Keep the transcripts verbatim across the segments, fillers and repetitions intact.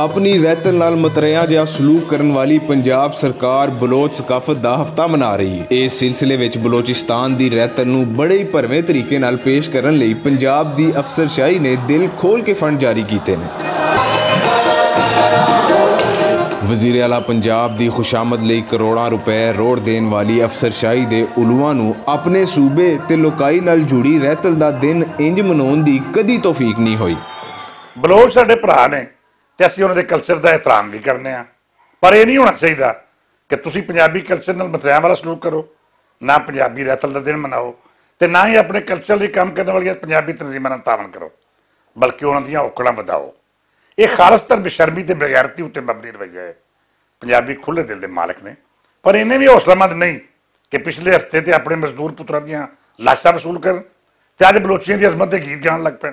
اپنی رہتل نال متریاں جیہا سلوک کرن والی پنجاب سرکار بلوچ ثقافت دا ہفتہ منا رہی ہے۔ اس سلسلے وچ بلوچستان دی رہتل نوں بڑے ہی بھرویں طریقے نال پیش کرن لئی پنجاب دی افسر شاہی نے دل کھول کے فنڈ جاری کیتے نے۔ وزیر اعلیٰ پنجاب دی خوشامد لئی کروڑاں روپے روڑ دین والی افسر شاہی دے علواں نوں اپنے صوبے تے لوکائی نال جڑی رہتل دا دن انج منون دی کدی توفیق نہیں ہوئی۔ بلوچ ساڈے بھرا نے، تے اسی انہاں دے کلچر دا احترام وی کرنے آں۔ پر ایہہ نہیں ہونا چاہیدا کہ تسی پنجابی کلچر نال متریاں والا سلوک کرو، نہ پنجابی رہتل دا دن مناؤ، تے نہ ہی اپنے کلچر لئی کم کرنے والیاں پنجابی تنظیماں نال تعاون کرو، بلکہ انہاں دیاں اوکڑاں ودھاؤ۔ ایہہ خالص تر بشرمی تے بغیرتی اتے مبنی رویہ ہے۔ پنجابی کھلے دل دے مالک نے، پر انہیں وی حوصلہ مند نہیں کہ پچھلے ہفتے تے اپنے مزدور پتراں دیاں لاشاں وصول کرن تے اج بلوچیاں دی عظمت دے گیت گان لگ پین۔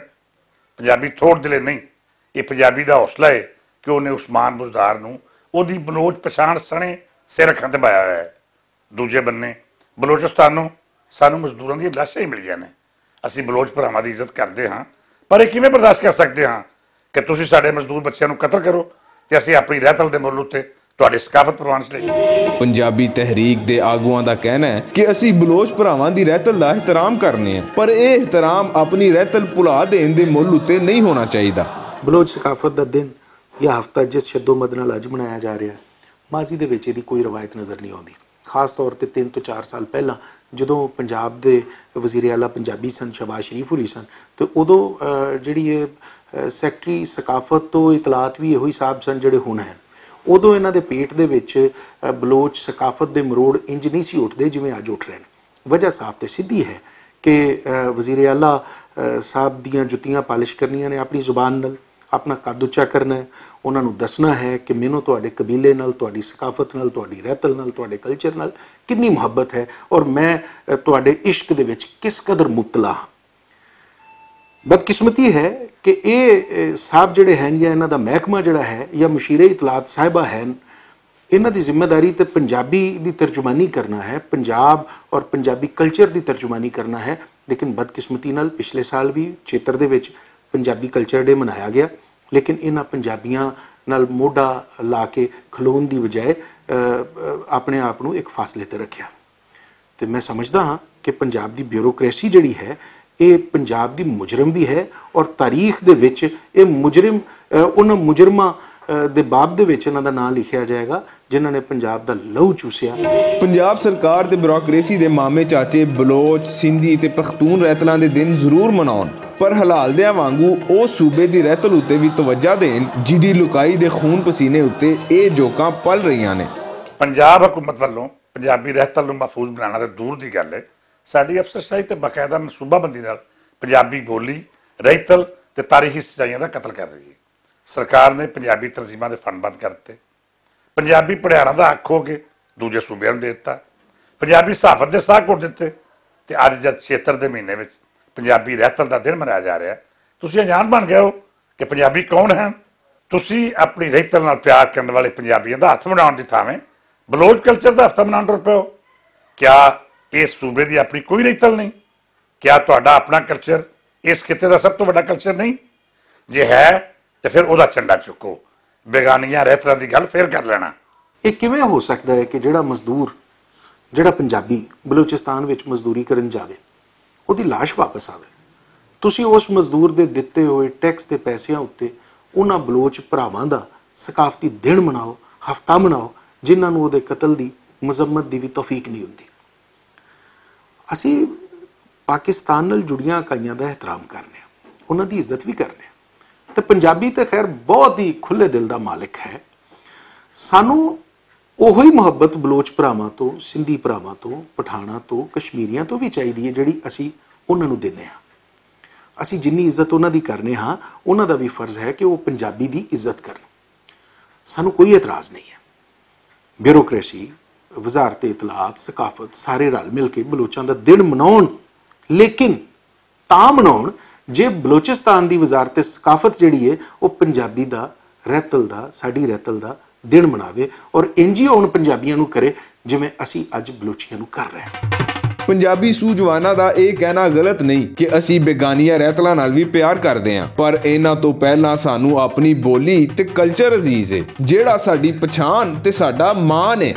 پنجابی تھوڑ دلے نہیں، ایہہ پنجابی دا حوصلہ ہے کہ انہیں عثمان بزدار نوں اوہدی بلوچ پچھان سنے سر رکھن تے بایا ہویا ہے۔ دوجے بننے، بلوچستانوں سانوں مزدوراں دیاں لاشاں ہی ملیاں نے۔ اسی بلوچ بھراواں دی عزت کردے ہاں، پر ایہہ کیویں برداشت کر سکدے ہاں کہ تسی ساڈے مزدور بچیاں نوں قتل کرو تے اسی اپنی رہتل دے ملک تے تہاڈی ثقافت پروان چ لے جاؤ؟ پنجابی تحریک دے آگواں دا کہنا ہے کہ اسی بلوچ بھراواں دی رہتل دا احترام کرنے ہیں، پر ایہہ احترام اپنی رہتل پلا دین دے ملک تے نہیں ہونا چاہیدا۔ بلوچ ثقافت دا دن یا ہفتہ جس شدو مد نال اج منایا جا رہیا ہے، ماضی دے وچ ایہدی کوئی روایت نظر نہیں آندی۔ خاص طور تے تین توں چار سال پہلاں جدوں پنجاب دے وزیر اعلیٰ پنجابی سن شہباز شریف ہوری سن، تے اودوں جیہڑی ایہہ سیکرٹری ثقافت توں اطلاعات وی ایہو ہی صاحب سن جیہڑے ہن ہیں۔ اودوں انہاں دے پیٹ دے وچ بلوچ ثقافت دے مروڑ انج نہیں سی اٹھدے جیویں اج اٹھ رہے ہیں۔ وجہ صاف تے سدھی ہے کہ وزیر اعلیٰ صاحب دیاں جتیاں پالش کرنیاں نے اپنی زبان نال، اپنا قد اچا کرنا ہے، انہاں نوں دسنا ہے کہ مینوں تہاڈے قبیلے نال، تہاڈی ثقافت نال، تہاڈی رہتل نال، تہاڈے کلچر نال کنی محبت ہے اور میں تہاڈے عشق دے وچ کس قدر مبتلا ہاں۔ بدقسمتی ہے کہ ایہہ صاحب جیہڑے ہیں یا انہاں دا محکمہ جیہڑا ہے یا مشیرے اطلاعات صاحبہ ہیں، انہاں دی ذمہ داری تے پنجابی دی ترجمانی کرنا ہے، پنجاب اور پنجابی کلچر دی ترجمانی کرنا ہے۔ لیکن بدقسمتی نال پچھلے سال وی چیتر دے وچ پنجابی کلچر ڈے منایا گیا، لیکن انہاں پنجابیاں نال موڈا لا کے کھلون دی بجائے اپنے آپ نوں ایک فاصلے تے رکھیا۔ تے میں سمجھدا ہاں کہ پنجاب دی بیوروکریسی جیہڑی ہے، ایہہ پنجاب دی مجرم وی ہے اور تاریخ دے وچ ایہہ مجرم انہاں مجرماں دے باب دے وچ انہاں دا ناں لکھیا جائے گا جنہاں نے پنجاب دا لہو چوسیا۔ پنجاب سرکار تے بیوروکریسی دے مامے چاچے بلوچ، سندھی تے پختون رہتلاں دے دن ضرور مناؤن، پر حلال دیاں وانگوں او صوبے دی رہتل اتے وی توجہ دین جدی لکائی دے خون پسینے اتے ایہہ جوکاں پل رہیاں نے۔ پنجاب حکومت ولوں پنجابی رہتل نوں محفوظ بنانا تے دور دی گل ہے، ساڈی افسر شاہی تے باقاعدہ منصوبہ بندی نال پنجابی بولی، رہتل تے تاریخی سچائیاں دا قتل کر رہی ہے۔ سرکار نے پنجابی تنظیماں دے فنڈ بند کر دتے، پنجابی پڑھیاراں دا حق ہو کے دوجے صوبیاں نوں دے دتا، پنجابی صحافت دے ساہ کٹ دتے۔ تے اج جد چھیتر دے مہینے وچ پنجابی رہتل دا دن منایا جا رہیا ہے، تسی انجان بن گئے ہو کہ پنجابی کون ہیں؟ تسی اپنی رہتل نال پیار کرن والے پنجابیاں دا ہتھ مناؤن دی تھاویں بلوچ کلچر دا ہفتہ مناؤن ٹر پئے ہو۔ کیا اس صوبے دی اپنی کوئی رہتل نہیں؟ کیا تہاڈا اپنا کلچر اس خطے دا سب توں وڈا کلچر نہیں؟ جے ہے تے فیر اوہدا چنڈا چکو، بیگانیاں رہتلاں دی گل فیر کر لینا۔ ایہہ کیویں ہو سکدا ہے کہ جیہڑا مزدور، جیہڑا پنجابی بلوچستان وچ مزدوری کرن جاوے، اوہدی لاش واپس آوے؟ تسی اس مزدور دے دتے ہوئے ٹیکس دے پیسیاں اتے انہاں بلوچ بھراواں دا ثقافتی دن مناؤ، ہفتہ مناؤ، جنہاں نوں اوہدے قتل دی مذمت دی وی توفیق نہیں ہوندی۔ اسی پاکستان نال جڑیاں اکائیاں دا احترام کرنے ہاں، انہاں دی عزت وی کرنے ہاں۔ تے پنجابی تے خیر بہت ہی کھلے دل دا مالک ہے۔ سانوں اوہی محبت بلوچ بھراواں توں، سندھی بھراواں توں، پٹھاناں توں، کشمیریاں توں وی چاہیدی ہے جیہڑی اسی انہاں نوں دینے ہاں۔ اسی جنی عزت انہاں دی کرنے ہاں، انہاں دا وی فرض ہے کہ او پنجابی دی عزت کرن۔ سانوں کوئی اعتراض نہیں ہے۔ بیوروکریسی، وزارت اطلاعات، ثقافت سارے رل مل کے بلوچاں دا دن مناؤن، لیکن تاں مناؤن جے بلوچستان دی وزارت ثقافت جیہڑی ہے او پنجابی دا رہتل دا، ساڈی رہتل دا دن مناوے اور انجی اون پنجابیاں نوں کرے جیویں اسی اج بلوچیاں نوں کر رہے ہیں۔ پنجابی سوجواناں دا ایہہ کہنا غلط نئیں کہ اسی بیگانیاں رہتلاں نال وی پیار کردے آں، پر انہاں توں پہلاں سانوں اپنی بولی تے کلچر عزیز اے، جیہڑا ساڈی پچھان تے ساڈا مان اے۔